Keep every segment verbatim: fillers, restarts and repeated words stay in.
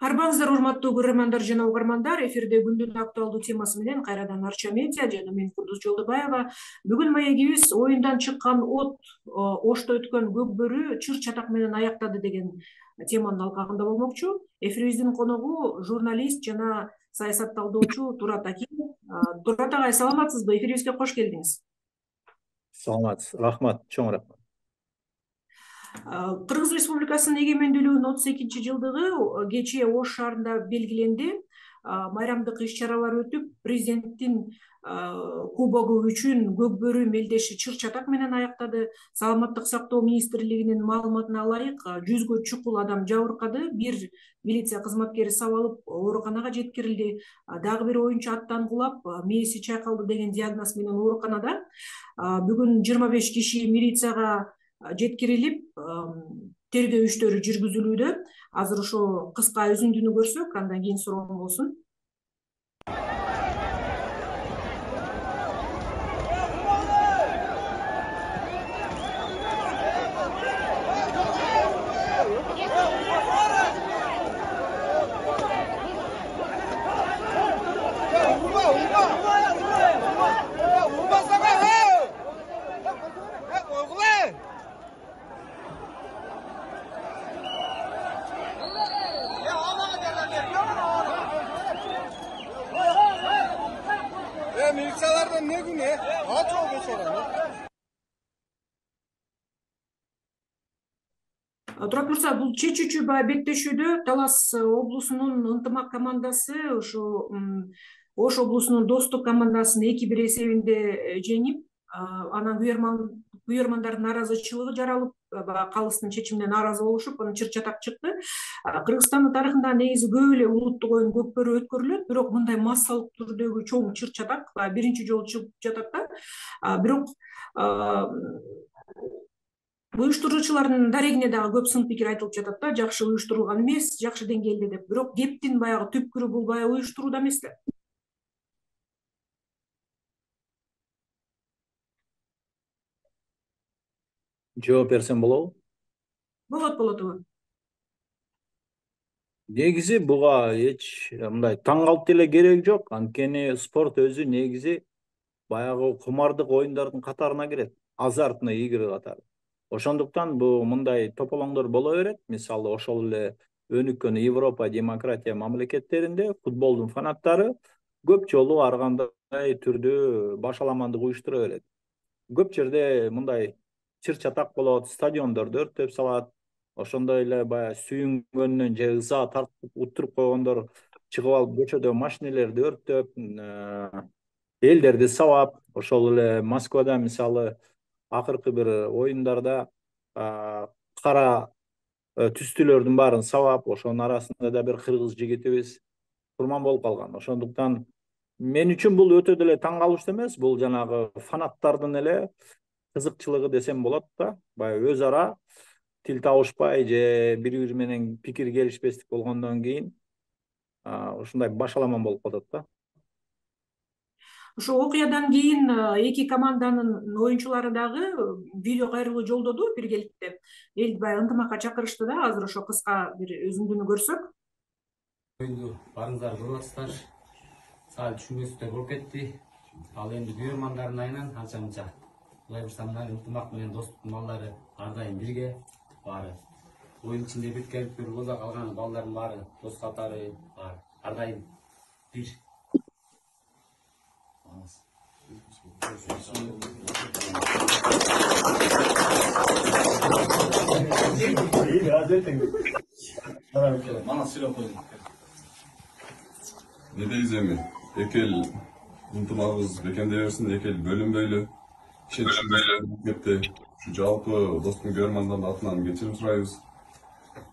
Арбаңыздар, урматтуу көрөрмандар жана угармандар, эфирде күндүн актуалдуу темасы менен кайрадан Арча медиа жана мен Курдус Жолдобаева. Бүгүн маегибиз оюндан чыккан от Ошто өткөн көкбөрү чыр чатак менен аяктады деген теманын алкагында болмокчу. Эфирибиздин коногу журналист жана саясат талдоочу Турат Акимов. Турат агай, саламатсызбы? Эфирибизге кош келдиңиз. Саламатсыз, рахмат, чоң рахмат. Кыргыз Республикасынын эгемендүүлүгүнүн отуз экинчи жылдыгы кечээ Ош шаарында белгиленди. Майрамдык иш-чаралар өтүп, президенттин кубогу үчүн көкбөрү мелдеши чыр чатак менен аяктады. Саламаттык сактоо министрлигинин маалыматына ылайык, жүзгө чукул адам жабыркады. Бир милиция кызматкери сабалып ооруканага жеткирилди. Дагы бир оюнчу аттан кулап, мээси чайкалды деген диагноз менен ооруканада. Бүгүн жыйырма беш киши милицияга жеткирилип, тергөө иштери жүргүзүлүүдө. Азыр ошо кыска үзүндүнү көрсөк, андан кийин суроом болсун. Militsalardan ne günü? Aç ol geçelim. Турат мырза, бул чечүүчү беттешүүдө Талас облусунун ынтымак командасы ошо Ош облусунун Достук командасын эки бир эсебинде жеңип, анан күйөрмандардын нааразычылыгы жаралып, калыстын чечимине нааразы болушуп, анан чыр чатак чыкты. Кыргызстандын тарыхында негизи көп эле улуттук оюн көкбөрү өткөрүлөт, бирок мындай массалык түрдөгү чоң чыр чатак биринчи жолу чыгып жатат да. Бирок уюштуруучулардын дарегине дагы көп сын пикир айтылып жатат да, жакшы уюштурулган эмес, жакшы деңгээлде деп. Бирок кептин баягы түпкүрү бул баягы уюштурууда эмес да. Жооп берсем болобу? Болот, болот. Негизи буга эч мындай таң калып деле кереги жок. Анткени спорт өзү негизи баягы кумардык оюндардын катарына кирет, азартный игры катары. Ошондуктан бул мындай тополоңдор боло берет. Мисалы, ошол эле өнүккөн Европа демократия мамлекеттеринде футболдун фанаттары көп жолу ар кандай түрдүү башаламандык уюштура берет. Көп жерде мындай чыр чатак болот, стадиондорду өрттөп салат. Ошондой эле баягы сүйүнгөнүнөн же ыза тартып уттуруп койгондор чыгып алып көчөдө машинелерди өрттөп, элдерди сабап. Ошол эле Москвада мисалы акыркы бир оюндарда кара түстүлөрдүн баарын сабап, ошонун арасында да бир кыргыз жигитибиз курман болуп калган. Ошондуктан мен үчүн бул өтө деле таң калыштуу эмес, бул жанагы фанаттардын эле кызыкчылыгы десем болот да. Баягы өз ара тил табышпай же бири бири менен пикир келишпестик болгондон кийин ушундай башаламан болуп калат да. Ошо окуядан кийин эки команданын оюнчулары дагы видео кайрылуу жолдоду биргеликте. Элди баягы ынтымакка чакырышты да. Азыр ошо кыска бир үзүндүнү көрсөк. Оюнду барыңыздар көрүп атасыздар. Саат түшүнбөстүктөр болуп кетти. Ал эми күйөрмандардын айынан анча мынча. Кулай бурса мына ынтымак менен достуктун балдары ар дайым бирге баары. Оюн ичинде бүткөнлүктөр боло калган балдардын баары дос катары бар. Ар дайым бир. Ne deyiz emin? Ekel ынтымагыбыз бекемдей берсин, эки эл бөлүнбөйлү. Бөлүнбөйлү. Şu жалпы достук көрөрмандардын атынан кечирим сурайбыз.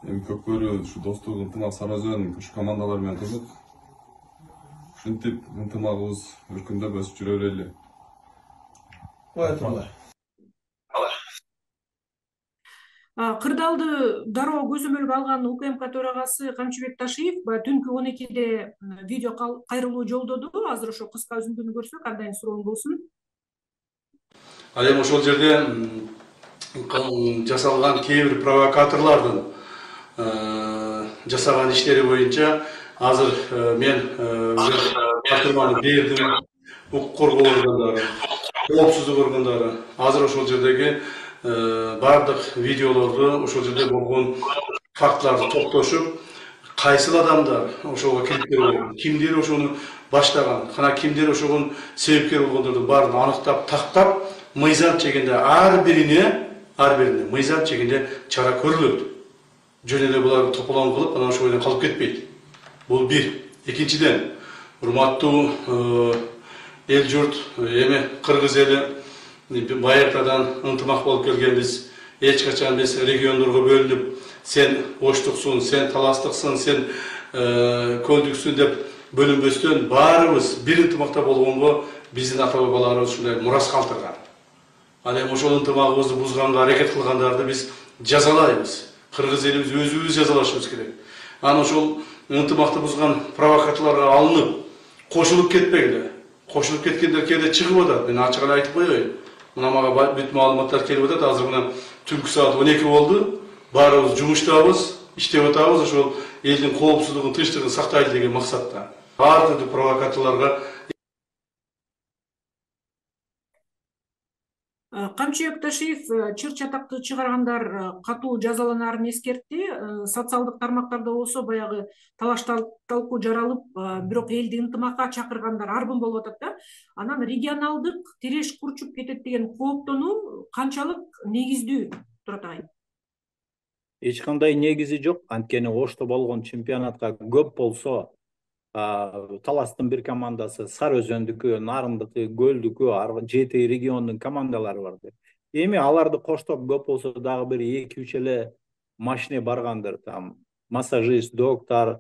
Эми көкбөрү ушу достук ынтымак Сарыөзөн ушу командалар менен кызык. Ушинтип ынтымагыбыз өркүндөп өсүп жүрө берели. Бuyurun. Кырдаалды дароо көзөмөлгө алган УКМК төрагасы Камчыбек Ташиев түнкү он экиде видео кайрылуу жолдоду. Азыр ошо кыска үзүндүнү көрсөк, андан суроом болсун. Ал эми ошол жерде жасалган кээ бир провокаторлордун жасаган иштери боюнча азыр мен тапшырманы бердим. Укук коргоо органдары, коопсуздук органдары азыр ошол жердеги бардык видеолорду, ошол жерде болгон фактыларды топтошуп, кайсыл адамдар ошого келипкер болгон, кимдер ошону баштаган, кана кимдер ошого себепкер болгондорду баарын аныктап, тактап, мыйзам чегинде ар бирине, ар бирине мыйзам чегинде чара көрүлөт. Жөн эле буларды тополоң кылып, анан ошол жерден калып кетпейт. Бул бир. Экинчиден, урматтуу эл журт, эми кыргыз эли байыртадан ынтымак болуп келгенбиз. Эч качан биз региондорго бөлүнүп, сен оштуксуң, сен таластыксың, сен көлдүксүң деп бөлүнбөстөн баарыбыз бир ынтымакта болгонго биздин ата бабаларыбыз ушундай мурас калтырган. Ал эми ошол ынтымагыбызды бузганга аракет кылгандарды биз жазалайбыз. Кыргыз элибиз өзүбүз жазалашыбыз керек. Анан ошол ынтымакты бузган провокаторлорго алынып, кошулуп кетпегиле. Кошулуп кеткендер кээде чыгып атат. Мен ачык эле айтып коеюн. Мына мага бүт маалыматтар келип атат. Азыр мына түнкү саат он эки болду. Баарыбыз жумуштабыз, иштеп атабыз, ошол элдин коопсуздугун, тынчтыгын сактайлы деген максатта. Ар түрдүү провокаторлорго Камчы Өкташиев чыр чатакты чыгаргандар катуу жазаланаарын эскертти. Социалдык тармактарда болсо баягы талаш талкуу жаралып, бирок элди ынтымакка чакыргандар арбын болуп атат да. Анан регионалдык тиреш курчуп кетет деген кооптонуу канчалык негиздүү, Турат агай? Эч кандай негизи жок. Анткени Ошто болгон чемпионатка көп болсо Таластын бир командасы, Сары Өзөндүкү, Нарындыкы, Көлдүкү, жети региондун командалары бар. Эми аларды коштоп көп болсо дагы бир эки үч эле машине баргандыр. Там массажист, доктор,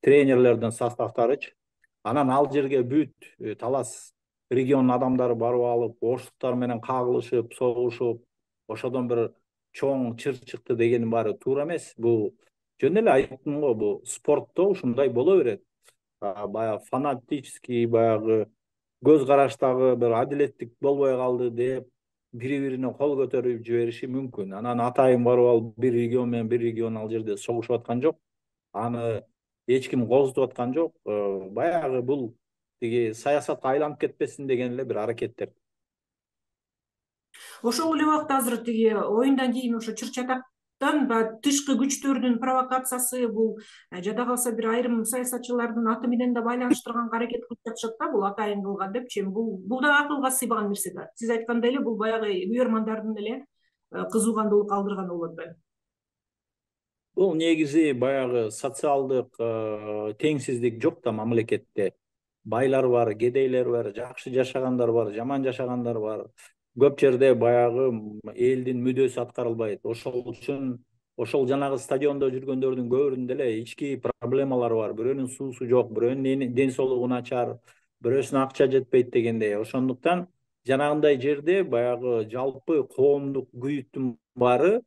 тренерлердин составтарычы. Анан ал жерге бүт Талас регионунун адамдары барып алып, оштуктар менен кагылышып, согушуп, ошодон бир чоң чыр чыкты деген баары туура эмес. Бул жөн эле айттым го, бул спортто ушундай боло берет. Баягы фанатический, баягы көз караштагы бир адилеттик болбой калды деп бири-бирине кол көтөрүп жибериши мүмкүн. Анан атайын барып алып бир регион менен бир регион ал жерде согушуп аткан жок. Аны эч ким козутуп аткан жок. Баягы бул тиги саясатка айланып кетпесин деген эле бир аракеттер. Ошол эле убакта азыр тиги оюндан кийин ошо чыр чатактан тышкы күчтөрдүн провокациясы, бул жада калса бир айрым саясатчылардын аты менен да байланыштырганга аракет кылып жатышат да, бул атайын кылган депчи. Бул бул да акылга сыйбаган нерсе да. Сиз айткандай эле бул баягы үйөрмандардын эле кызуугандуулук калтырган болуп атпайбы? Бул негизи баягы социалдык теңсиздик жок да мамлекетте. Байлар бар, кедейлер бар, жакшы жашагандар бар, жаман жашагандар бар. Көп жерде баягы элдин мүдөөсү аткарылбайт. Ошол үчүн ошол жанагы стадиондо жүргөндөрдүн көбүрүндө эле ички проблемалар бар. Бирөөнүн суусу жок, бирөөнүн ден соолугу начар, бирөөсүнө акча жетпейт дегендей. Ошондуктан жанагындай жерде баягы жалпы коомдук күйүттүн баары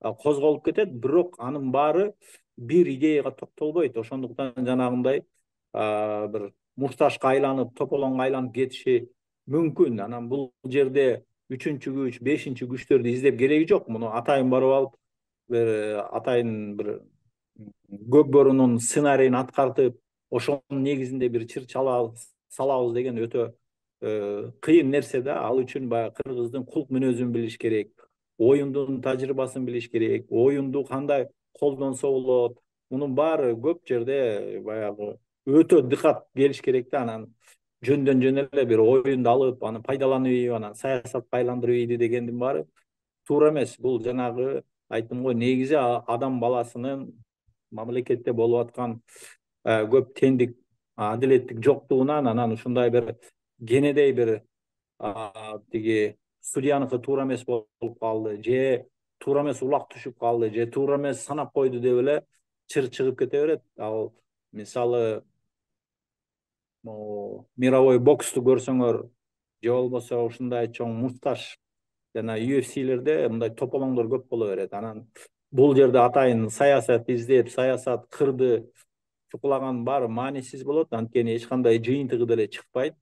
козголуп кетет, бирок анын баары бир идеяга токтолбойт. Ошондуктан жанагындай бир мушташка айланып, тополоңго айланып кетиши мүмкүн. Анан бул жерде үчүнчү күч, бешинчи күчтөрдү издеп кереги жок. Муну атайын барып алып, бир атайын бир көкбөрүнүн сценарийин аткартып, ошонун негизинде бир чыр салабыз деген өтө кыйын нерсе да. Ал үчүн баягы кыргыздын кулк мүнөзүн билиш керек, оюндун тажрыйбасын билиш керек, оюнду кандай колдонсо болот. Мунун баары көп жерде баягы өтө дыкат келиш керек да. Анан жөндөн жөн эле бир оюнду алып, аны пайдаланып ийип, анан саясатка айландырып ийди дегендин баары туура эмес. Бул жанагы айттым го, негизи адам баласынын мамлекетте болуп аткан көп теңдик, адилеттик жоктугунан, анан ушундай бир кенедей бир тиги судьяныкы туура эмес болуп калды, же туура эмес улак түшүп калды, же туура эмес санап койду деп эле чыр чыгып кете берет. Ал мисалы мировой боксту көрсөңөр, же болбосо ушундай чоң мушташ жана ю эф силерде мындай тополоңдор көп боло берет. Анан бул жерде атайын саясат издеп, саясат кырды чукулаган баары маанисиз болот. Анткени эч кандай жыйынтыгы деле чыкпайт.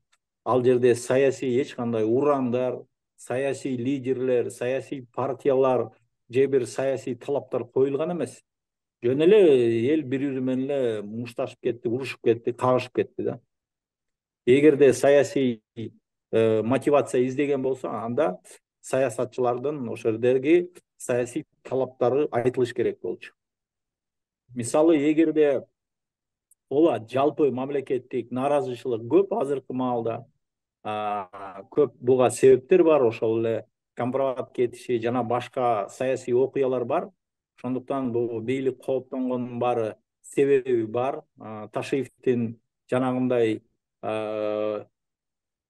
Ал жерде саясий эч кандай урамдар, саясий лидерлер, саясий партиялар же бир саясий талаптар коюлган эмес. жөн эле эл бири бири менен эле мушташып кетти, урушуп кетти, кагышып кетти да. Эгерде саясий мотивация издеген болсо, анда саясатчылардын ошол жердеги саясий талаптары айтылыш керек болчу. Мисалы, эгерде ооба жалпы мамлекеттик нааразычылык көп азыркы маалда, көп буга себептер бар, ошол эле компромат кетиши жана башка саясий окуялар бар. Ошондуктан бул бийлик кооптонгондун баары себеби бар. Ташиевдин жанагындай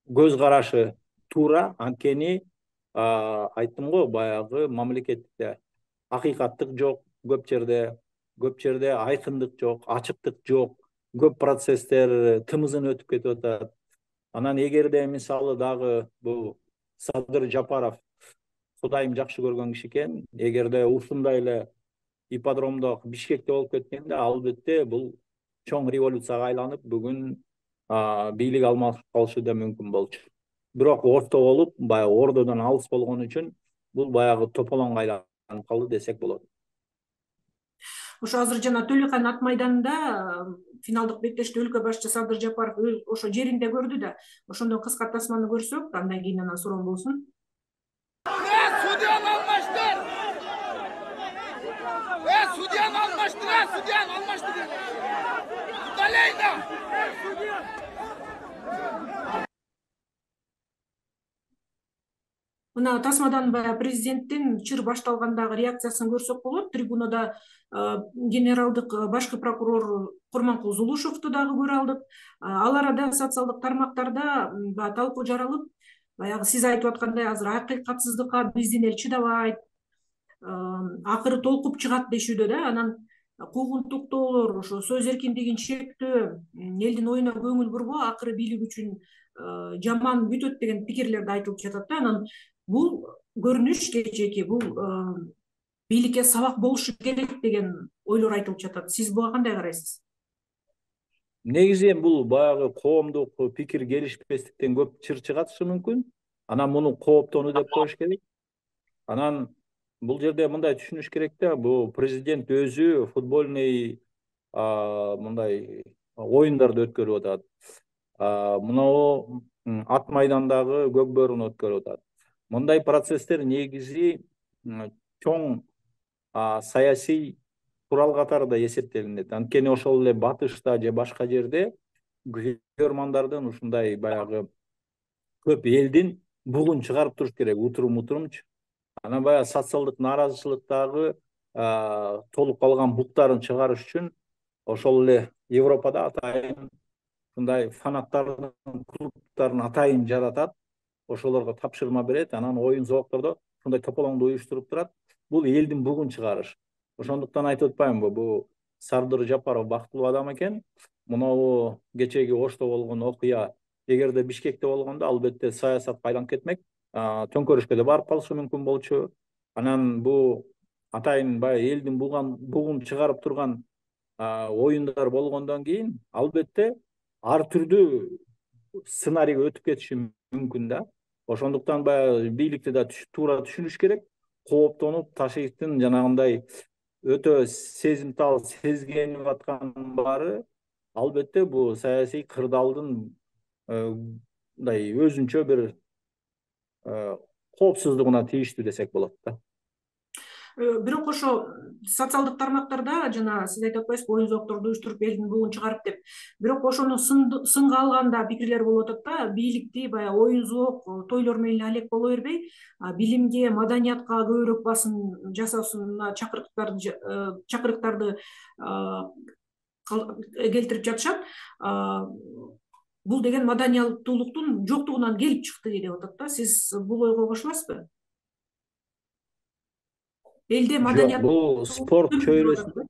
көз карашы туура, анткени айттым го, баягы мамлекетте акыйкаттык жок, көп жерде көп жерде айкындык жок, ачыктык жок, көп процесстер тымызын өтүп кетип атат. Анан эгерде мисалы дагы бул Садыр Жапаров Кудайым жакшы көргөн киши экен, эгерде ушундай эле ипподромдо Бишкекте болуп кеткенде, албетте бул чоң революцияга айланып, бүгүн бийлик алмашып калышы да мүмкүн болчу. Бирок орто болуп, баягы ордодон алыс болгон үчүн бул баягы тополоңго айланып калды десек болот. Ошо азыр жана Төлөкан ат майданында финалдык беттеште өлкө башчы Садыр Жапаров ошо жеринде көрдү да. Ошондон кыска тасманы көрсөк, андан кийин анан суроом болсун. Судьяны almıştır. Ve судьяны almıştır. Судьяны almıştır. Далейда. Мына тасмадан баягы президенттин чыр башталгандагы реакциясын көрсөк болот. Трибунада генералдык башкы прокурор Курманкул Зулушевду дагы көрө алдык. Ал арада социалдык тармактарда талкуу жаралып, баягы сиз айтып аткандай азыр акыйкатсыздыкка биздин эл чыдабайт, акыры толкуп чыгат дешүүдө да. Анан куугунтуктоолор, ошо сөз эркиндигин чектөө, элдин оюна көңүл бурбоо акыры бийлик үчүн жаман бүтөт деген пикирлер да айтылып жатат да. Анан бул көрүнүш кечээки, бул бийликке сабак болушу керек деген ойлор айтылып жатат. Сиз буга кандай карайсыз? Негизи бул баягы коомдук пикир келишпестиктен көп чыр чыгатышы мүмкүн. Анан муну кооптонуу деп коюш керек. Анан бул жерде мындай түшүнүш керек да, бул президент өзү футбольный мындай оюндарды өткөрүп атат. Мынау ат майдандагы көкбөрүн өткөрүп атат. Мындай процесстер негизи чоң саясий курал катарында эсептелинет. Анткени ошол эле батышта же башка жерде көрмандардын ушундай баягы көп элдин бугун чыгарып туруш керек, утурум утурумчу. Анан баягы социалдык нааразычылыктагы толуп калган буктарын чыгарыш үчүн ошол эле Европада атайын ушундай фанаттардын клубтарын атайын жаратат, ошолорго тапшырма берет, анан оюн зооктордо ушундай тополоңду уюштуруп турат. Бул элдин бугун чыгарыш. Ошондуктан айтып атпаймынбы, бул Садыр Жапаров бактылуу адам экен. Мынау кечеги Ошто болгон окуя эгерде Бишкекте болгондо, албетте саясатка айланып кетмек, төңкөрүшкө да барып калышы мүмкүн болчу. Анан бул атайын баягы элдин бугун чыгарып турган оюндар болгондон кийин, албетте ар түрдүү сценарийге өтүп кетиши мүмкүн да. Ошондуктан баягы бийликти да туура түшүнүш керек. Кооптонуп, Ташиевдин жанагындай өтө сезимтал сезгенип аткан баары, албетте бул саясий кырдаалдын мындай өзүнчө бир коопсуздугуна тийиштүү десек болот да. Бирок ошо социалдык тармактарда жана сиз айтып атпайсызбы, оюн зоокторду уюштуруп элдин бугун чыгарып деп. Бирок ошону сынга алганда пикирлер болуп атат да, бийликти баягы оюн зоок, тойлор менен алек боло бербей, билимге, маданиятка көбүрөөк басым жасоосуна чакырыктарды чакырыктарды келтирип жатышат. Бул деген маданияттуулуктун жоктугунан келип чыкты деп атат да. Сиз бул ойго кошуласызбы? Элде маданият бул спорт чөйрөсү.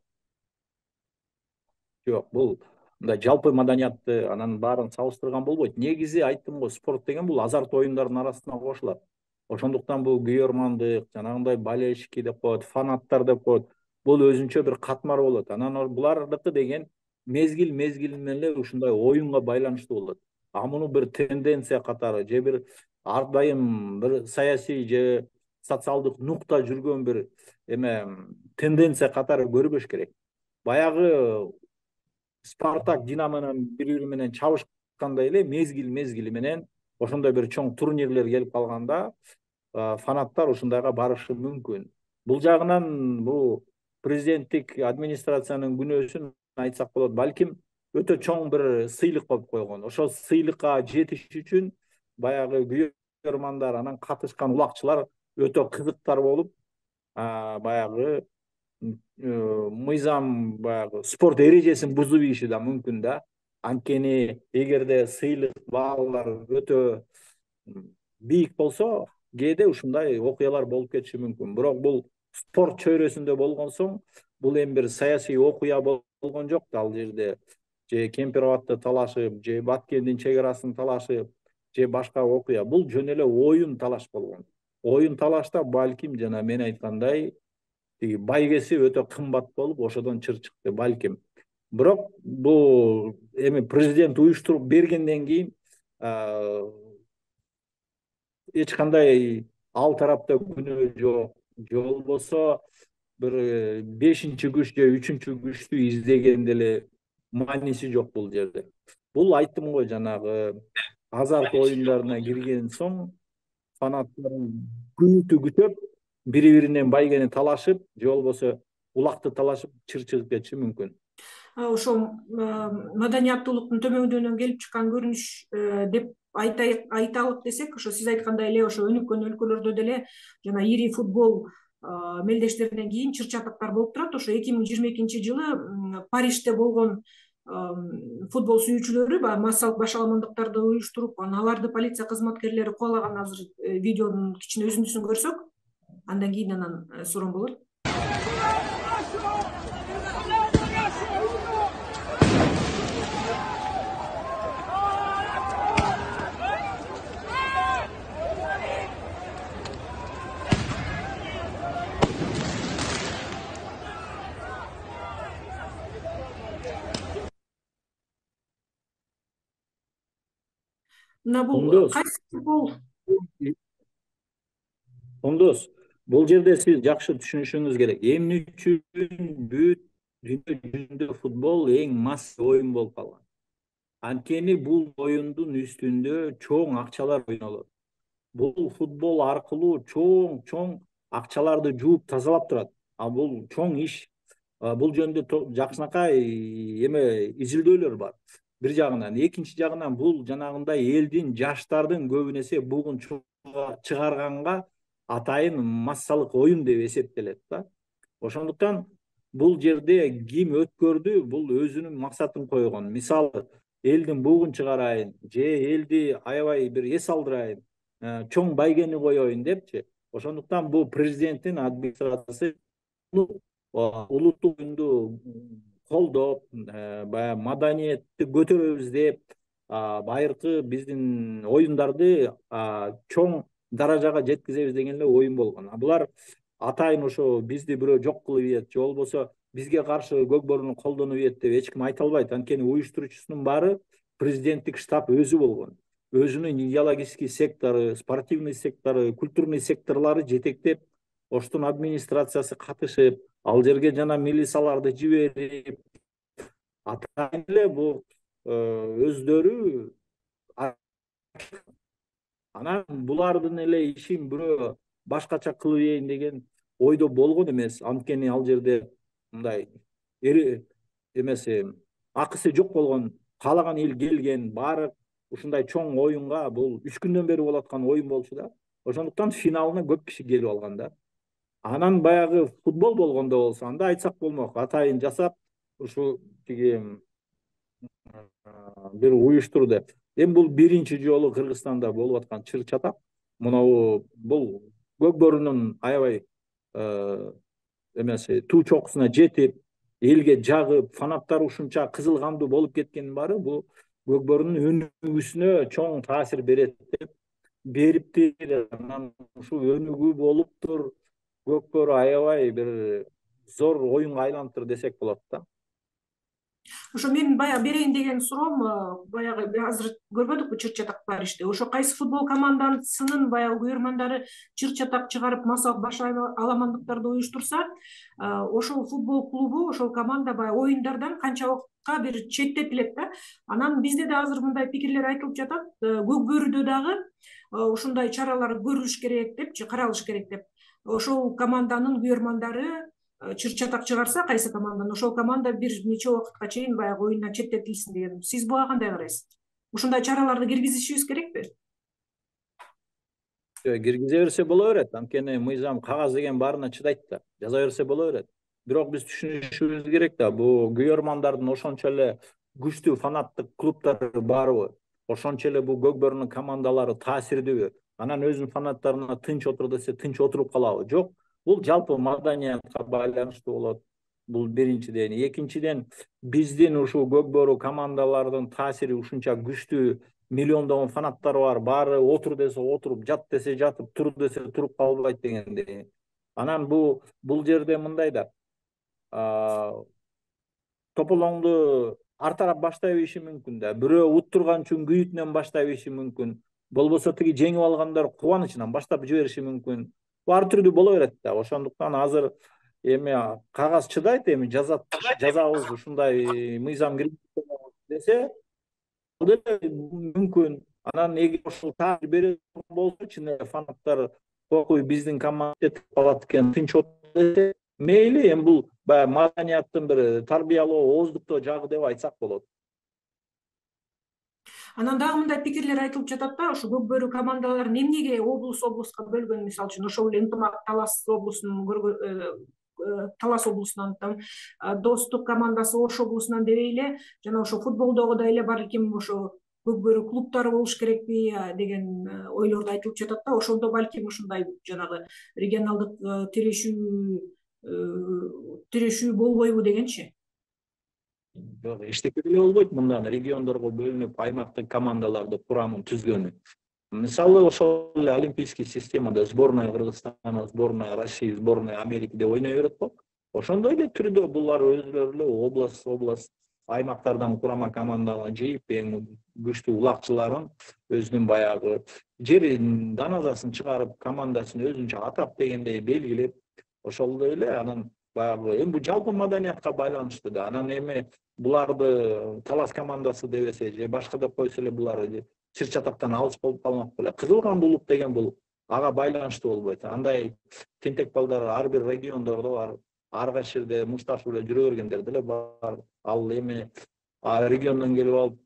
Жок, бул мындай жалпы маданиятты анан баарын салыштырган болбойт. Негизи айттым го, спорт деген бул азарт оюндардын арасына кошулат. Ошондуктан бул күйөрмандык, жанагындай болельщики деп коет, фанаттар деп коет. Бул өзүнчө бир катмар болот. Анан булардыкы деген мезгил мезгили менен эле ушундай оюнга байланыштуу болот. А муну бир тенденция катары же бир ар дайым бир саясий же социалдык нукта жүргөн бир эме тенденция катары көрбөш керек. баягы Спартак Динамо менен бири бири менен чабышкандай эле мезгил мезгили менен ошондой бир чоң турнирлер келип калганда фанаттар ушундайга барышы мүмкүн. Бул жагынан бул президенттик администрациянын күнөөсүн айтсак болот. Балким өтө чоң бир сыйлык болуп койгон. Ошол сыйлыкка жетиш үчүн баягы күйөрмандар анан катышкан улакчылар өтө кызыктар болуп, баягы мыйзам баягы спорт эрежесин бузуп ийиши да мүмкүн да. Анткени эгерде сыйлык баалар өтө бийик болсо, кээде ушундай окуялар болуп кетиши мүмкүн. Бирок бул спорт чөйрөсүндө болгон соң, бул эми бир саясий окуя болгон жок да ал жерде. Же Кемпир-Абадты талашып, же Баткендин чек арасын талашып, же башка окуя. Бул жөн эле оюн талаш болгон. Оюн талашта балким жана мен айткандай тиги байгеси өтө кымбат болуп, ошодон чыр чыкты балким. Бирок бул эми президент уюштуруп бергенден кийин эч кандай ал тарапта күнөө жок. Же болбосо бир бешинчи күч же үчүнчү күчтү издегенде эле мааниси жок бул жерде. Бул айттым го жанагы азарт оюндарына кирген соң фанаттар күнүтү күтөп, бири-биринен байгени талашып, же болбосо улакты талашып чыр чыгып кетиши мүмкүн. Ошол маданияттуулуктун төмөндөнөн келип чыккан көрүнүш деп айталык десек, ошо сиз айткандай эле ошо өнүккөн өлкөлөрдө деле жана ири футбол мелдештеринен кийин чыр чатактар болуп турат. Ошо эки миң жыйырма экинчи жылы Парижде болгон футбол сүйүүчүлөрү массалык башаламандыктарды уюштуруп, аларды полиция кызматкерлери кубалаган. Азыр видеонун кичине үзүндүсүн көрсөк, андан кийин анан суроом болот. Мына бул кайсы футбол? Ондос, бул жерде сиз жакшы түшүнүшүңүз керек. Эмне үчүн бүт дүйнө жүзүндө футбол эң масса оюн болуп калган? Анткени бул оюндун үстүндө чоң акчалар ойнолот. Бул футбол аркылуу чоң-чоң акчаларды жууп тазалап турат. А бул чоң иш. Бул жөнүндө жакшынакай эме изилдөөлөр бар. Бир жагынан, экинчи жагынан бул жанагындай элдин, жаштардын көбүн эсе бугун чыгарганга атайын массалык оюн деп эсептелет да. Ошондуктан бул жерде ким өткөрдү, бул өзүнүн максатын койгон. Мисалы, элдин бугун чыгарайын, же элди аябай бир эс алдырайын, чоң байгени коеюн депчи. Ошондуктан бул президенттин администрациясы улуттук оюнду колдоп, баягы маданиятты көтөрөбүз деп, байыркы биздин оюндарды чоң даражага жеткизебиз деген эле оюн болгон. Булар атайын ошо бизди бирөө жок кылып ийет, же болбосо бизге каршы көк борууну колдонуп ийет деп эч ким айта албайт. Анткени уюштуруучусунун баары президенттик штаб өзү болгон. Өзүнүн идеологический сектору, спортивный сектору, культурный секторлору жетектеп, оштун администрациясы катышып, ал жерге жана милицияларды жиберип, атайын эле бул өздөрү анан булардын эле ишин бирөө башкача кылып ийин деген ойдо болгон эмес. Анткени ал жерде мындай эмеси акысы жок болгон, каалаган эл келген, баары ушундай чоң оюнга, бул үч күндөн бери болуп аткан оюн болчу да. Ошондуктан финалына көп киши келип алган да. Анан баягы футбол болгондо болсо, анда айтсак болмок, атайын жасап, ушу тиги бир уюштурду. Эми бул биринчи жолу Кыргызстанда болуп аткан чыр чатак. Мына бул көк борунун аябай эмеси туу чокусуна жетип, элге жагып, фанаттар ушунча кызыл кандуу болуп кеткенин баары бул көк борунун өнүгүүсүнө чоң таасир берет деп бериптир. Анан ушу өнүгүү болуптур, көк бору аябай бир зор оюнга айланыптыр десек болот да. Ошо менин баягы берейин деген суроом, баягы азыр көрбөдүкпү чыр чатак бар ишти. Ошо кайсы футбол командасынын баягы күйөрмандары чыр чатак чыгарып массалык баш аламандыктарды уюштурса, ошол футбол клубу, ошол команда баягы оюндардан канча убакытка бир четтетилет да. Анан бизде да азыр мындай пикирлер айтылып жатат. Көк бөрүдө дагы ушундай чаралар көрүлүш керек депчи, каралыш керек деп. Ошол команданын күйөрмандары чыр чатак чыгарса, кайсы команданын, ошол команда бир нече убакытка чейин баягы оюндан четтетилсин деген. Сиз буга кандай карайсыз? Ушундай чараларды киргизишибиз керекпи? Киргизе берсе боло берет. Анткени мыйзам кагаз деген баарына чыдайт да. Жаза берсе боло берет. Бирок биз түшүнүшүбүз керек да, бул күйөрмандардын ошончо эле күчтүү фанаттык клубдары барбы? Ошончо эле бул көк бөрүнүн командалары таасирдүүбү? Анан өзүнүн фанаттарына тынч отур десе тынч отуруп калабы? Жок. Бул жалпы маданиятка байланыштуу болот. Бул биринчиден. Экинчиден, биздин ушул көк бөрү командалардын таасири ушунча күчтүү, миллиондогон фанаттары бар. Баары отур десе отуруп, жат десе жатып, тур десе туруп калбайт дегендей. Анан бул бул жерде мындай да. Тополоңду ар тарап баштай бериши мүмкүн да. Бирөө уттурган үчүн күйүүтүнөн баштай бериши мүмкүн. Болбосо тиги жеңип алгандар кубанычынан баштап жибериши мүмкүн. Ар түрдүү боло берет да. Ошондуктан азыр эми кагаз чыдайт, эми жазат жазабыз ушундай мыйзам киргизебиз десе мүмкүн. Анан эгер ошол таасир бере болсо, чын эле фанаттар окуй биздин команда кетип калат экен, тынч отур десе, мейли, эми бул баягы маданияттын бир тарбиялоо, ооздуктоо жагы деп айтсак болот. Анан дагы мындай пикирлер айтылып жатат да, ошо көк бөрү командаларын эмнеге облус облуска бөлгөн, мисалы үчүн ошол эле Ынтымак Талас облусунун Талас облусунан, Достук командасы Ош облусунан дебей эле, жана ошо футболдогудай эле балким ошо көк бөрү клубдары болуш керекпи деген ойлорду айтылып жатат да. Ошондо балким ушундай жанагы регионалдык тирешүү тирешүү болбойбу дегенчи. Жок, эчтеке деле болбойт мындан региондорго бөлүнүп аймактык командаларды курамын түзгөнү. Мисалы ошол эле олимпийский системада сборная Кыргызстана, сборная Россия, сборная Америка деп ойной берет го. Ошондой эле түрдө булар өзүлөрү эле область область аймактардан курама команданы жыйып, эң күчтүү улакчыларын өзүнүн баягы жерин даназасын чыгарып, командасын өзүнчө атап дегендей белгилеп, ошолдой эле анан баягы эми бул жалпы маданиятка байланыштуу да. Анан эми буларды Талас командасы дебесе же башка деп койсо эле булар чыр чатактан алыс болуп калмак беле. Кызылган булуп деген бул ага байланыштуу болбойт. Андай тентек балдар ар бир региондордо бар. Ар кайсы жерде мушташып эле жүрө бергендер деле бар. Ал эми региондон келип алып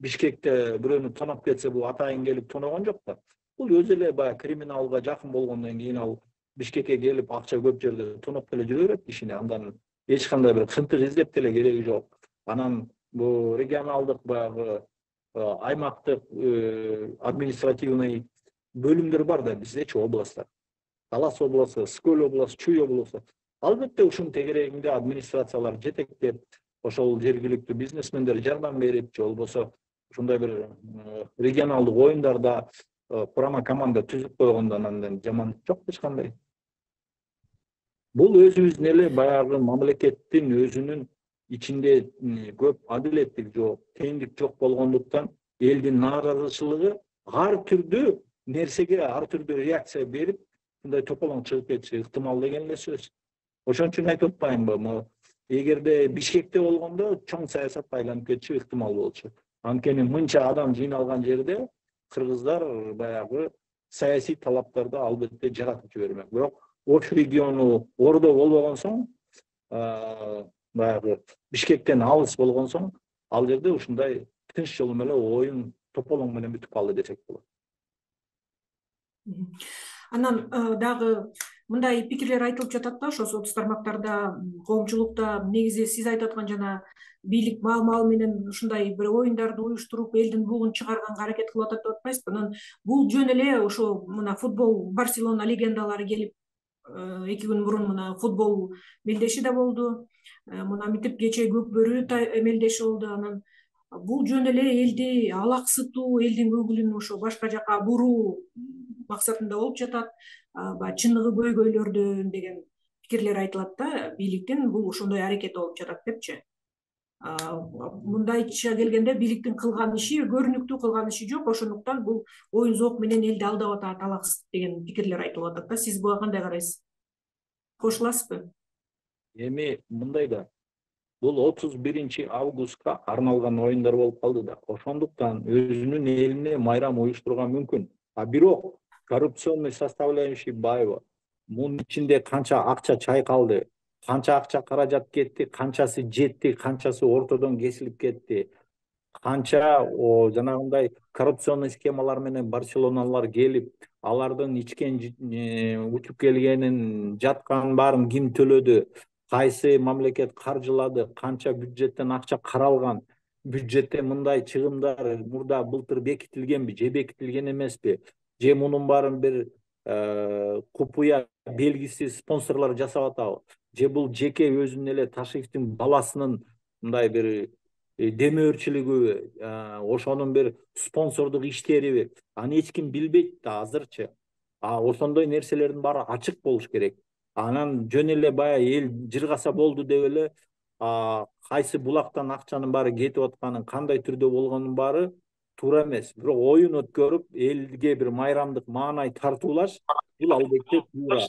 Бишкекте бирөөнү тоноп кетсе, бул атайын келип тоногон жок да. Бул өзү эле баягы криминалга жакын болгондон кийин ал Бишкекке келип акча көп жерде тоноп деле жүрө берет кишини. Андан эч кандай бир кынтык издеп деле кереги жок. Анан бул регионалдык баягы аймактык административный бөлүмдөр бар да биздечи областтар. Талас областы, Скөл областы, Чүй областы. Албетте ушунун тегерегинде администрациялар жетектеп, ошол жергиликтүү бизнесмендер жардам берип, же болбосо ушундай бир регионалдык оюндарда курама команда түзүп койгондон андан жаман жок эч кандай. Бул өзүбүздүн эле баягы мамлекеттин өзүнүн ичинде көп адилеттик жок, теңдик жок болгондуктан элдин нааразычылыгы ар түрдүү нерсеге ар түрдүү реакция берип, мындай тополоң чыгып кетиши ыктымал деген эле сөз. Ошон үчүн айтып атпаймынбы, эгерде Бишкекте болгондо чоң саясатка айланып кетиши ыктымал болчу. Анткени мынча адам жыйналган жерде кыргыздар баягы саясий талаптарды албетте жаратып жибермек. Бирок Ош региону ордо болбогон соң, баягы Бишкектен алыс болгон соң, ал жерде ушундай тынч жол менен оюн тополоң менен бүтүп калды десек болот. Анан дагы мындай пикирлер айтылып жатат да, ошо соц тармактарда, коомчулукта, негизи сиз айтып аткан жана бийлик маал-маал менен ушундай бир оюндарды уюштуруп, элдин бугун чыгарганга аракет кылып атат деп атпайсызбы? Анан бул жөн эле ошо мына футбол Барселона легендалары келип эки күн мурун мына футбол мелдеши да болду. Мына митип кечээ көк бөрү мелдеши болду. Анан бул жөн эле элди алаксытуу, элдин көңүлүн ошо башка жака буруу максатында болуп жатат. Баягы чыныгы көйгөйлөрдөн деген пикирлер айтылат да, бийликтин бул ошондой аракети болуп жатат депчи. мындайча келгенде бийликтин кылган иши көрүнүктүү кылган иши жок, ошондуктан бул оюн зоок менен элди алдап атат, алаксыз деген пикирлер айтылып атат да. Сиз буга кандай карайсыз? Кошуласызбы? Эми мындай да, бул отуз биринчи августка арналган оюндар болуп калды да. Ошондуктан өзүнүн элине майрам уюштурууга мүмкүн. А бирок коррупционный составляющий баайбы. Мунун ичинде канча акча чайкалды, канча акча каражат кетти, канчасы жетти, канчасы ортодон кесилип кетти, канча жанагындай коррупционный схемалар менен Барселоналар келип, алардын ичкен учуп келгенин, жатканын баарын ким төлөдү, кайсы мамлекет каржылады, канча бюджеттен акча каралган, бюджетте мындай чыгымдар мурда былтыр бекитилгенби же бекитилген эмеспи, же мунун баарын бир купуя белгисиз спонсорлор жасап атабы, же бул жеке өзүнүн эле Ташиевдин баласынын мындай бир демөөрчүлүгүбү, ошонун бир спонсордук иштериби, аны эч ким билбейт да азырчы. А ошондой нерселердин баары ачык болуш керек. Анан жөн эле баягы эл жыргаса болду деп эле кайсы булактан акчанын баары кетип атканын, кандай түрдө болгонун баары туура эмес. Бирок оюн өткөрүп, элге бир майрамдык маанай тартуулаш бул албетте туура.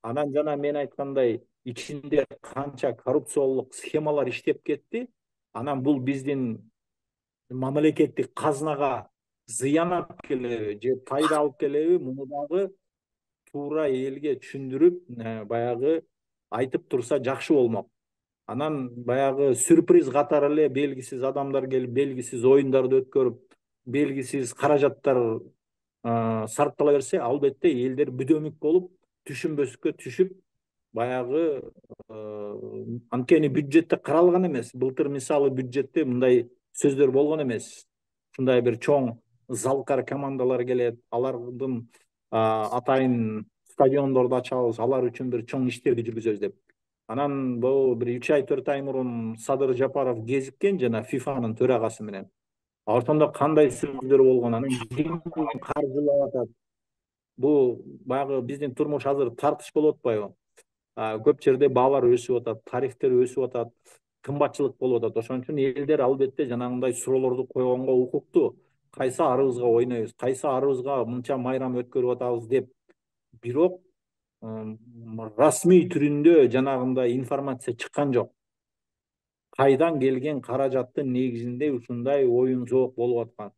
Анан жана мен айткандай, ичинде канча коррупциялык схемалар иштеп кетти. Анан бул биздин мамлекеттик казынага зыян алып келеби же пайда алып келеби, муну дагы туура элге түшүндүрүп, баягы айтып турса жакшы болмок. Анан баягы сюрприз катары эле белгисиз адамдар келип, белгисиз оюндарды өткөрүп, белгисиз каражаттар сарптала берсе, албетте элдер бүдөмүк болуп, түшүнбөскө түшүп, баягы анткени бюджетте каралган эмес. Былтыр мисалы бюджетте мындай сөздөр болгон эмес. Ушундай бир чоң залкар командалар келет, алардын атайын стадиондорду ачабыз, алар үчүн бир чоң иштерди жүргүзөбүз деп. Анан бул бир үч ай төрт ай мурун Садыр Жапаров кезиккен жана ФИФАнын төрагасы менен. Ошондо кандай сөздөр болгон, анан ким каржылап атат? Бул баягы биздин турмуш азыр тартыш болуп атпайбы? Көп жерде баалар өсүп атат, тарифтер өсүп атат, кымбатчылык болуп атат. Ошон үчүн элдер албетте жанагындай суроолорду койгонго укуктуу. Кайсы арыбызга ойнойбуз, кайсы арыбызга мынча майрам өткөрүп атабыз деп. Бирок расмий түрүндө жанагындай информация чыккан жок. Кайдан келген каражаттын негизинде ушундай оюн зоок болуп аткан.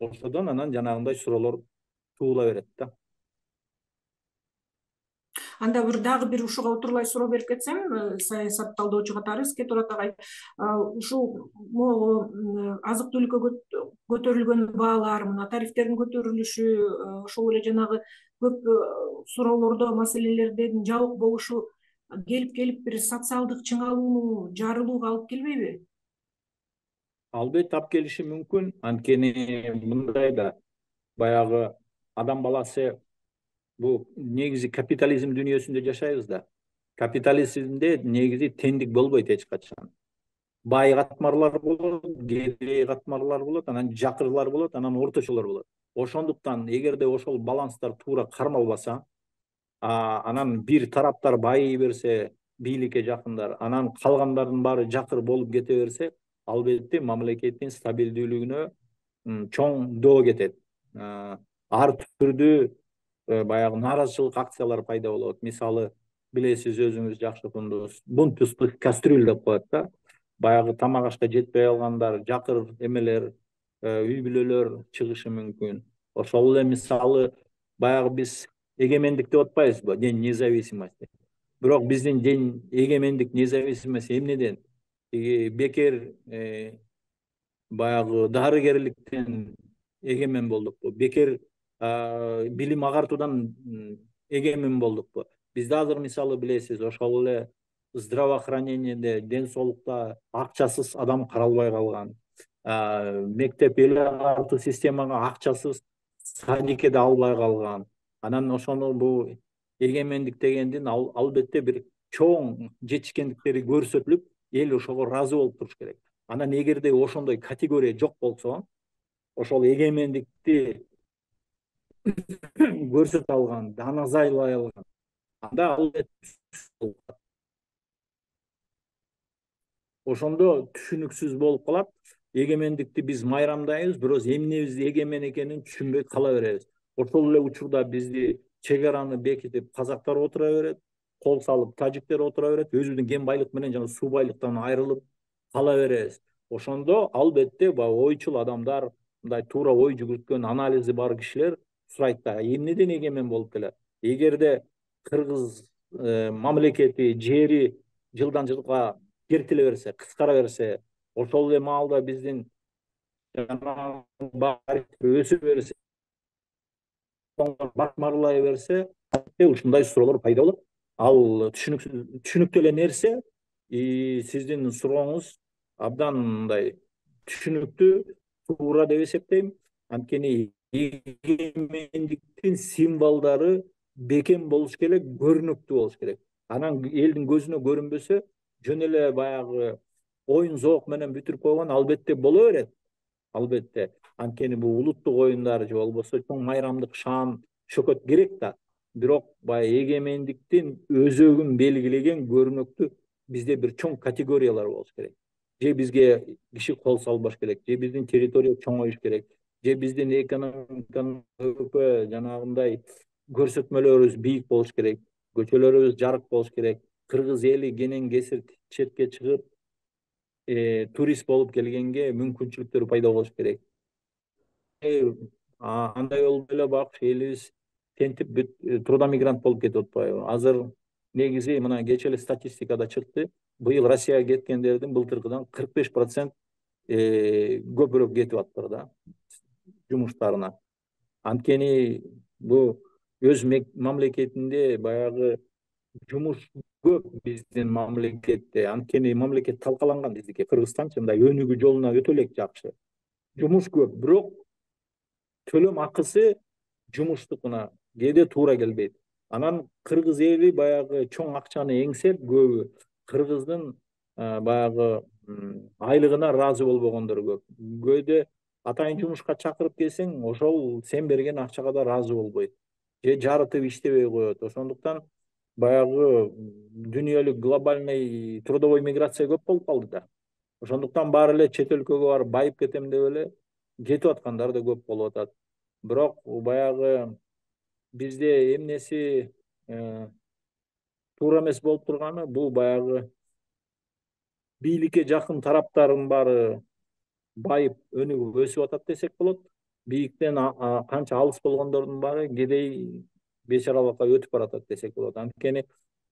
Ошодон анан жанагындай суроолор туула берет да. Анда бир дагы бир ушуга утурлай суроо берип кетсем, саясат талдоочу катары Эске Турат агай, ушул могу азык түлүккө көтөрүлгөн баалар, мына тарифтердин көтөрүлүшү, ошол эле жанагы көп суроолордо, маселелердин жабык болушу келип келип бир социалдык чыңалууну, жарылууга алып келбейби? Албетте алып келиши мүмкүн. Анткени мындай да, баягы адам баласы бул негизи капитализм дүйнөсүндө жашайбыз да. Капитализмде негизи теңдик болбойт эч качан. Бай катмарлар болот, кедей катмарлар болот, анан жакырлар болот, анан орточолор болот. Ошондуктан эгерде ошол баланстар туура кармалбаса, анан бир тараптар байый берсе, бийликке жакындар, анан калгандардын баары жакыр болуп кете берсе, албетте мамлекеттин стабилдүүлүгүнө чоң доо кетет. Ар түрдүү баягы нааразычылык акциялар пайда болот. Мисалы, билесиз, өзүңүз жакшы тundunuz, бунт пустых кастрюль деп коет да. Баягы тамак ашка жетпей калгандар, жакыр эмелер, үй бүлөлөр чыгышы мүмкүн. Ошол эле мисалы, баягы биз эгемендик деп атпайбызбы, день независимости. Бирок биздин день эгемендик независимость эмнеден? Бекер баягы дарыгерликтен эгемен болдукпу? Бекер билим агартуудан эгемен болдукпу? Бизде азыр мисалы билесиз, ошол эле здравоохранениеде, ден соолукта акчасыз адам каралбай калган. Мектеп эл агартуу системага акчасыз садикеде албай калган. Анан ошону бул эгемендик дегендин албетте бир чоң жетишкендиктери көрсөтүлүп, эл ошого ыраазы болуп туруш керек. Анан эгерде ошондой категория жок болсо, ошол эгемендикти көрсөтө алган, аны зайлай алган, анда албетте ошондо түшүнүксүз болуп калат. Эгемендикти биз майрамдайбыз, бирок эмнебиз эгемен экенин түшүнбөй кала беребиз. Ошол эле учурда бизди чек араны бекитип казактар отура берет, кол салып тажиктер отура берет, өзүбүздүн кен байлык менен жана суу байлыктан айрылып кала беребиз. Ошондо албетте баягы ойчул адамдар, мындай туура ой жүгүрткөн анализи бар кишилер сурайт да, эмнеден эгемен болуп келет? Эгерде кыргыз мамлекети, жери жылдан жылга кертиле берсе, кыскара берсе, ошол эле маалда биздин өсө берсе, башмарлай берсе, ушундай суроолор пайда болот. Ал түшүнүктүү эле нерсе, сиздин сурооңуз абдан мындай түшүнүктүү, туура деп эсептейм. Анткени эгемендиктин символдору бекем болуш керек, көрүнүктүү болуш керек. Анан элдин көзүнө көрүнбөсө, жөн эле баягы оюн зоок менен бүтүрүп койгон албетте боло берет. Албетте. Анткени бул улуттук оюндар же болбосо чоң майрамдык шаан шөкөт керек да. Бирок баягы эгемендиктин өзөгүн белгилеген көрүнүктүү бизде бир чоң категориялар болуш керек. Же бизге киши кол салбаш керек, же биздин территория чоңоюш керек, же биздин экономиканын жанагындай көрсөтмөлөрүбүз бийик болуш керек, көчөлөрүбүз жарык болуш керек, кыргыз эли кенен кесир четке чыгып турист болуп келгенге мүмкүнчүлүктөр пайда болуш керек. Андай болуп эле бак элибиз тентип трудомигрант болуп кетип атпайбы? Азыр негизи мына кечээ эле статистикада чыкты. Быйыл Россияга кеткендердин былтыркыдан кырк беш процент көбүрөөк кетип аттыр да жумуштарына. Анткени бул өз мамлекетинде баягы жумуш көп биздин мамлекетте. Анткени мамлекет талкаланган биздики, Кыргызстанчы мындай өнүгүү жолуна өтө элек жакшы. Жумуш көп, бирок төлөм акысы жумуштукуна кээде туура келбейт. Анан кыргыз эли баягы чоң акчаны эңсеп, көбү кыргыздын баягы айлыгына ыраазы болбогондор көп. Көөде атайын жумушка чакырып келсең, ошол сен берген акчага да ыраазы болбойт. Же жарытып иштебей коет. Ошондуктан баягы дүйнөлүк глобальный трудовой миграция көп болуп калды да. Ошондуктан баары эле чет өлкөгө барып байып кетем деп эле кетип аткандар да көп болуп атат. Бирок баягы бизде эмнеси туура эмес болуп турганы, бул баягы бийликке жакын тараптардын баары байып, өнүгүп өсүп атат десек болот. Бийиктен канча алыс болгондордун баары кедей бечаралыкка өтүп баратат десек болот. Анткени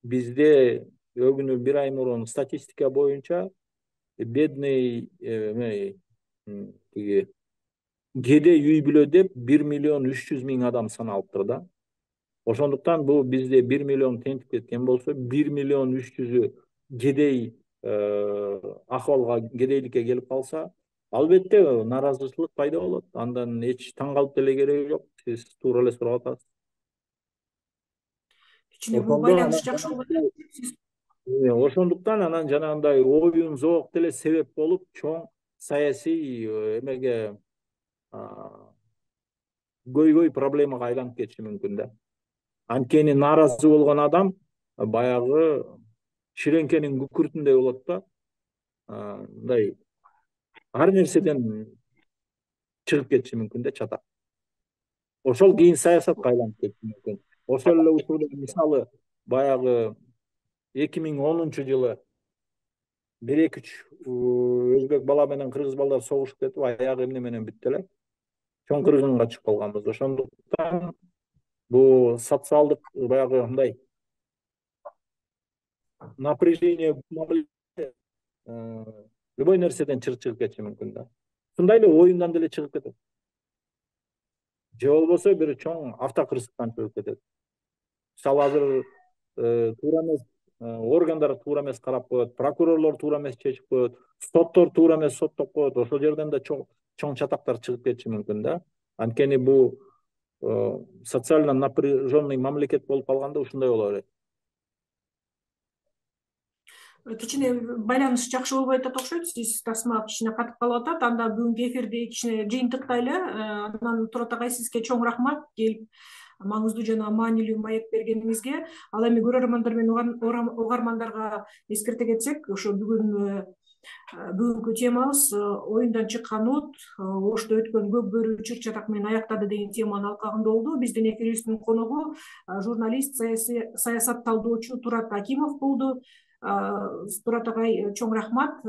бизде өгүнү бир ай мурун статистика боюнча бедный тиги кедей үй бүлө деп бир миллион үч жүз миң адам саналыптыр да. Ошондуктан бул бизде бир миллион тентип кеткен болсо, бир миллион үч жүзү кедей акыбалга, кедейликке келип калса, албетте нааразычылык пайда болот. Андан эч таң калып деле кереги жок. Сиз туура эле сурап атасыз. Кичине бул байланыш жакшы болот. Ошондуктан анан жанагындай оюн зоок деле себеп болуп, чоң саясий эмеге көйгөй проблемага айланып кетиши мүмкүн да. Анткени нааразы болгон адам баягы ширеңкенин күкүртүндөй болот да. Мындай ар нерседен чыгып кетиши мүмкүн да, чатак. Ошол кийин саясатка айланып кетиши мүмкүн. Ошол эле учурда мисалы баягы эки миң онунчу жылы бир эки үч өзбек бала менен кыргыз балдар согушуп кетип, аягы эмне менен бүттү эле. Чоң кыргынга чыгып калганбыз. Ошондуктан бул социалдык баягы мындай напряжение любой нерседен чыгып кетиши мүмкүн да. Ушундай эле оюндан деле чыгып кетет. Же болбосо бир чоң автокырсыктан чыгып кетет. Мисалы азыр туура эмес органдар туура эмес карап коет, прокурорлор туура эмес чечип коет, соттор туура эмес соттоп коет. Ошол жерден да чоң чоң чатактар чыгып кетиши мүмкүн да. Анткени бул социально напряженный мамлекет болуп калганда ушундай боло берет. Кичине байланыш жакшы болбой атат окшойт. Сиз тасма кичине катып калып атат. Анда бүгүнкү эфирди кичине жыйынтыктайлы. Анан Турат агай, сизге чоң рахмат келип маңыздуу жана маанилүү маек бергениңизге. Ал эми көрөрмандар менен угармандарга эскерте кетсек, ошо бүгүн Бүгүнкү темабыз оюндан чыккан от Ошто өткөн көк бөрү чыр чатак менен аяктады деген теманын алкагында болду. Биздин эфирибиздин коногу журналист, саясат талдоочу Турат Акимов болду. Турат агай, чоң рахмат.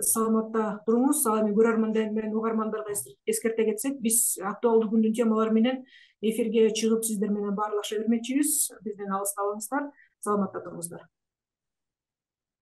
Саламатта туруңуз. Ал эми көрөрмандар менен угармандарга эскерте кетсек, биз актуалдуу күндүн темалары менен эфирге чыгып сиздер менен баарлаша бермекчибиз. Бизден алыс калбаңыздар. Саламатта туруңуздар.